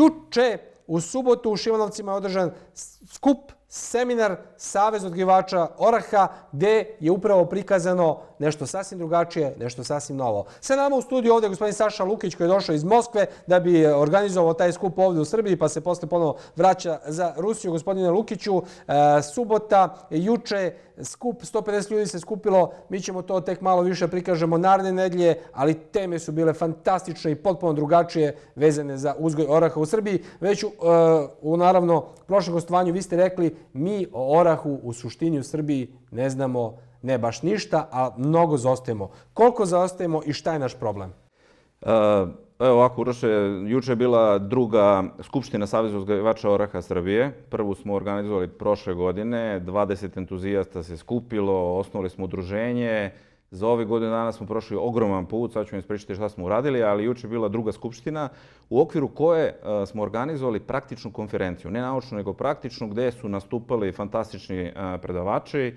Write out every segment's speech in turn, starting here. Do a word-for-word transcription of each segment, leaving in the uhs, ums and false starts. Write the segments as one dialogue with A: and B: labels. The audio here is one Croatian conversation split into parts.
A: juče u subotu u Šimanovcima je održan skup, seminar Savez odgajivača oraha, gde je upravo prikazano nešto sasvim drugačije, nešto sasvim novo. Sa nama u studiju ovdje je gospodin Saša Lukić koji je došao iz Moskve da bi organizovao taj skup ovdje u Srbiji, pa se posle ponovo vraća za Rusiju. Gospodine Lukiću, subota, juče, skup, sto pedeset ljudi se skupilo, mi ćemo to tek malo više prikažemo naredne nedelje, ali teme su bile fantastične i potpuno drugačije vezane za uzgoj oraha u Srbiji. Već u, u naravno, prošlom gostovanju vi ste rekli mi o orahu u suštini u Srbiji ne znamo ne baš ništa, a mnogo zaostajemo. Koliko zaostajemo i šta je naš problem?
B: Evo ovako, Uroše, juče je bila druga skupština Saveza uzgajivača oraha Srbije. Prvu smo organizovali prošle godine, dvadeset entuzijasta se skupilo, osnovali smo udruženje. Za ove godine dana smo prošli ogroman put, sad ću vam ispričati šta smo uradili, ali juče je bila druga skupština u okviru koje smo organizovali praktičnu konferenciju. Ne naučnu, nego praktičnu, gde su nastupali fantastični predavači.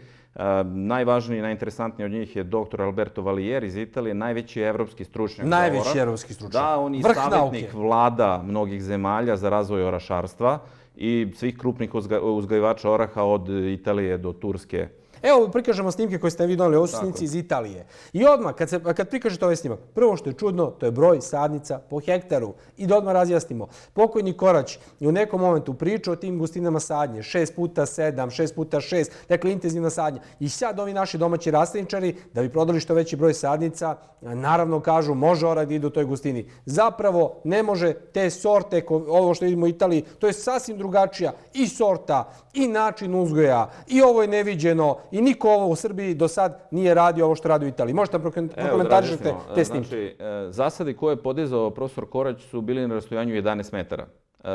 B: Najvažniji i najinteresantniji od njih je doktor Alberto Valier iz Italije, najveći evropski stručnjak za orah.
A: Najveći evropski stručnjak.
B: Da, on je savjetnik vlada mnogih zemalja za razvoj orašarstva i svih krupnih uzgajivača oraha od Italije do Turske.
A: Evo, prikažemo snimke koje ste vi doneli, ovo su snimci iz Italije. I odmah, kad, se, kad prikažete ovaj snimak, prvo što je čudno, to je broj sadnica po hektaru. I da odmah razjasnimo. Pokojni Korać je u nekom momentu pričao o tim gustinama sadnje, šest puta sedam, šest puta šest, dakle intenzivna sadnja. I sad ovi naši domaći rastlinčari, da bi prodali što veći broj sadnica, naravno kažu može orah da ide u toj gustini. Zapravo ne može te sorte, ovo što vidimo u Italiji, to je sasvim drugačija i sorta, i način uzgoja, i ovo je neviđeno, i niko ovo u Srbiji do sad nije radio ovo što radi u Italiji. Možete da prokomentarišete te snimke?
B: Znači, zasadi koje je podizao profesor Korać su bili na rastojanju jedanaest metara.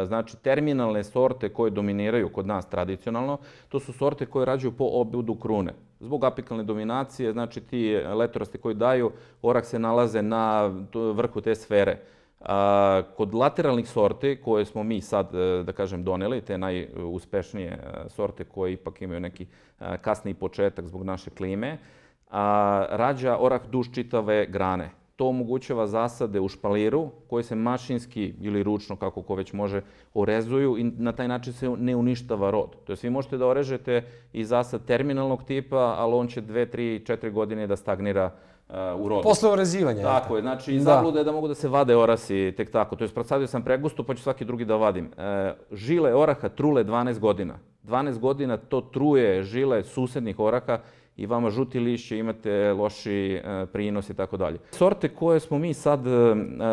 B: Znači, terminalne sorte koje dominiraju kod nas tradicionalno, to su sorte koje rađuju po obudu krune. Zbog apikalne dominacije, znači ti letorasti koji daju, orah se nalaze na vrhu te sfere. Kod lateralnih sorti koje smo mi sad, da kažem, doneli, te najuspešnije sorte koje ipak imaju neki kasniji početak zbog naše klime, rađa orah duž čitave grane. To omogućava zasade u špaliru koje se mašinski ili ručno, kako ko već može, orezuju i na taj način se ne uništava rod. To jest vi možete da orežete i zasad terminalnog tipa, ali on će dve, tri, četiri godine da stagnira u rodu.
A: Posle orezivanja.
B: Tako je, znači zabluda je da mogu da se vade orasi tek tako. To je prosadio sam pregusto pa ću svaki drugi da vadim. Žile oraha trule dvanaest godina. dvanaest godina to truje žile susednih oraha i vama žuti lišće, imate loši prinos i tako dalje. Sorte koje smo mi sad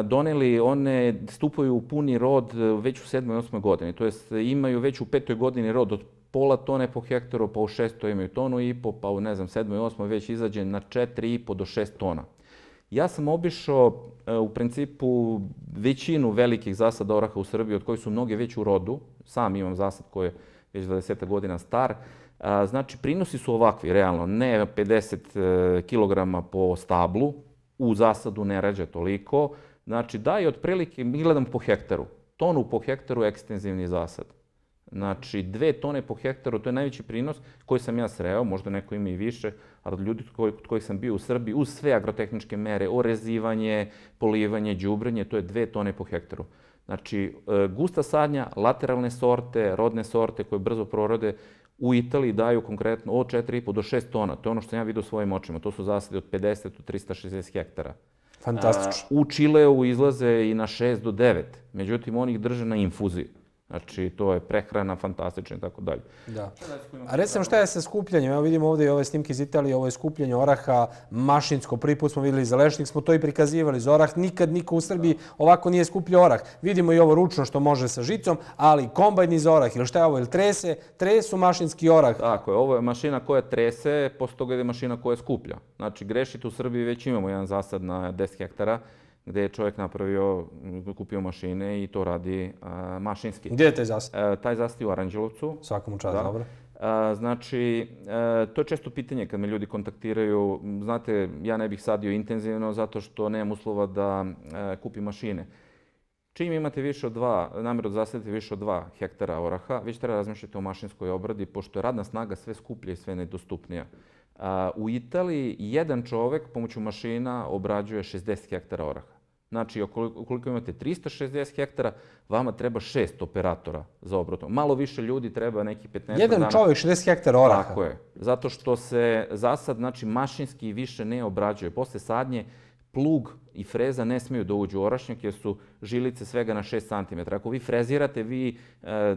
B: doneli, one stupaju u puni rod već u sedmoj, osmoj godini. To jest imaju već u petoj godini rod od pola tone po hektaru, pa u šestoj imaju tonu i po, pa u ne znam, sedmoj, osmoj već izađe na četiri i po do šest tona. Ja sam obišao u principu većinu velikih zasada oraha u Srbiji, od kojih su mnoge već u rodu. Sam imam zasad koji je već dvadeset godina star. Znači, prinosi su ovakvi, realno, ne pedeset kilograma po stablu, u zasadu ne rađa toliko. Znači, daje otprilike, mi gledamo po hektaru, tonu po hektaru ekstenzivni zasad. Znači, dve tone po hektaru, to je najveći prinos koji sam ja sreo, možda neko ima i više, ali od ljudi kod kojih sam bio u Srbiji, uz sve agrotehničke mere, orezivanje, polivanje, đubrenje, to je dve tone po hektaru. Znači, gusta sadnja, lateralne sorte, rodne sorte koje brzo prorode, u Italiji daju konkretno od četiri i po do šest tona. To je ono što sam ja vidio svojim očima. To su zasade od pedeset do trista šezdeset hektara.
A: Fantastično.
B: U Čileu izlaze i na šest do devet. Međutim, oni ih drže na infuziji. Znači, to je prehrana fantastična i tako dalje.
A: Da. A recimo šta je sa skupljanjem? Evo vidimo ovdje i ove snimke iz Italije, ovo je skupljanje oraha mašinsko. Prvi put smo vidjeli za lešnik, smo to i prikazivali. Za orah nikad niko u Srbiji ovako nije skupljao orah. Vidimo i ovo ručno što može sa žicom, ali kombajni za orah ili šta je ovo? Ili trese? Tresu mašinski orah.
B: Tako je, ovo je mašina koja trese, posle toga je mašina koja skuplja. Znači, grešite, u Srbiji već imamo jedan zasad na deset hektara, gde je čovjek napravio, kupio mašine i to radi mašinski.
A: Gdje je taj zasad?
B: Taj zasad je u Aranđelovcu.
A: Svakom čast, dobro.
B: Znači, to je često pitanje kad me ljudi kontaktiraju. Znate, ja ne bih sadio intenzivno zato što nemam uslova da kupim mašine. Čim imate više od dva, namjeru da zasadite više od dva hektara oraha, već treba razmišljati o mašinskoj obradi, pošto je radna snaga sve skuplja i sve nedostupnija. U Italiji jedan čovek pomoću mašina obrađuje šezdeset hektara oraha. Znači, ukoliko imate tristo šezdeset hektara, vama treba šest operatora za obradu. Malo više ljudi treba neki petnaest dana.
A: Jedan čovjek, šezdeset hektara oraha.
B: Tako je. Zato što se zasad, znači, mašinski više ne obrađuje. Posle sadnje, plug i freza ne smiju da uđu u orašnjak jer su žilice svega na šest centimetara. Ako vi frezirate, vi e,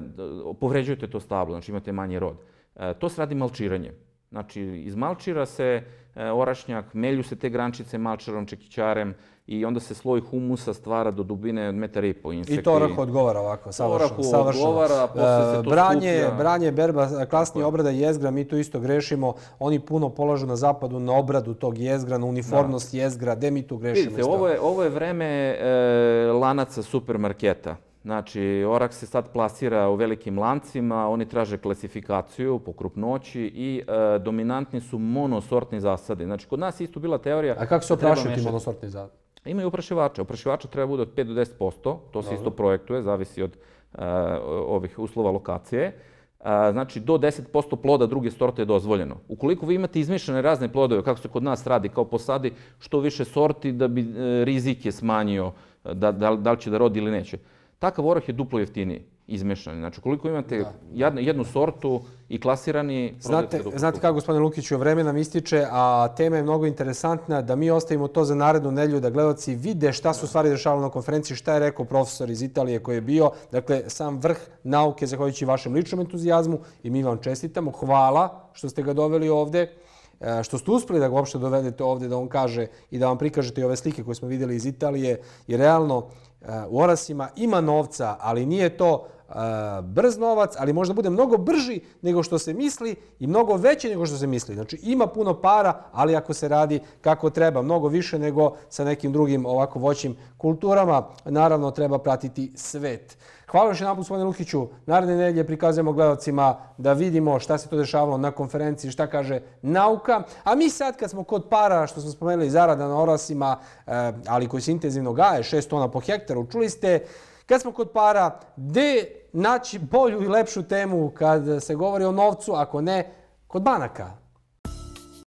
B: povređujete to stablo, znači imate manji rod. E, to se radi malčiranjem. Znači, izmalčira se e, orašnjak, melju se te grančice malčarom, čekićarem i onda se sloj humusa stvara do dubine od metar i po.
A: I to orahu odgovara ovako, savršeno.
B: Orahu odgovara, posle se to
A: branje,
B: skuplja.
A: Branje, berba, klasnije obrada jezgra, mi tu isto grešimo. Oni puno polažu na zapadu na obradu tog jezgra, na uniformnost jezgra, gde mi tu grešimo?
B: Vidite, ovo je, ovo je vreme e, lanaca supermarketa. Znači, orah se sad plasira u velikim lancima, oni traže klasifikaciju po krupnoći i e, dominantni su monosortni zasadi. Znači, kod nas je isto bila teorija...
A: A kako se oprašuju ti monosortni zasadi?
B: Imaju oprašivače. Oprašivača treba bude od pet do deset posto, to se isto projektuje, zavisi od uh, ovih uslova lokacije. Uh, znači, do deset posto ploda druge sorte je dozvoljeno. Ukoliko vi imate izmišljene razne plodove, kako se kod nas radi, kao posadi što više sorti da bi uh, rizik je smanjio, da, da, da li će da rodi ili neće. Takav orah je duplo jeftiniji, izmešani. Znači, koliko imate jednu, jednu sortu i klasirani...
A: Znate, znate kako, gospodine Lukiću, vreme nam ističe, a tema je mnogo interesantna, da mi ostavimo to za narednu nedelju, da gledalci vide šta su stvari dešavale na konferenciji, šta je rekao profesor iz Italije koji je bio. Dakle, sam vrh nauke, zahvaljujući vašem ličnom entuzijazmu, i mi vam čestitamo. Hvala što ste ga doveli ovde, što ste uspeli da ga uopšte dovedete ovde, da on kaže i da vam prikažete i ove slike koje smo vidjeli iz Italije. I realno, u orasima ima novca, ali nije to brz novac, ali možda bude mnogo brži nego što se misli i mnogo veći nego što se misli. Znači, ima puno para, ali ako se radi kako treba, mnogo više nego sa nekim drugim ovako voćnim kulturama, naravno treba pratiti svet. Hvala još jedan put, gospodine Lukiću. Naredne nedelje prikazujemo gledalcima da vidimo šta se to dešavalo na konferenciji, šta kaže nauka. A mi sad, kad smo kod para, što smo spomenuli, zarada na orasima, ali koji se intenzivno gaje, šest tona po hektaru, čuli ste, kad smo kod para, gde naći bolju i lepšu temu kad se govori o novcu, ako ne kod banaka?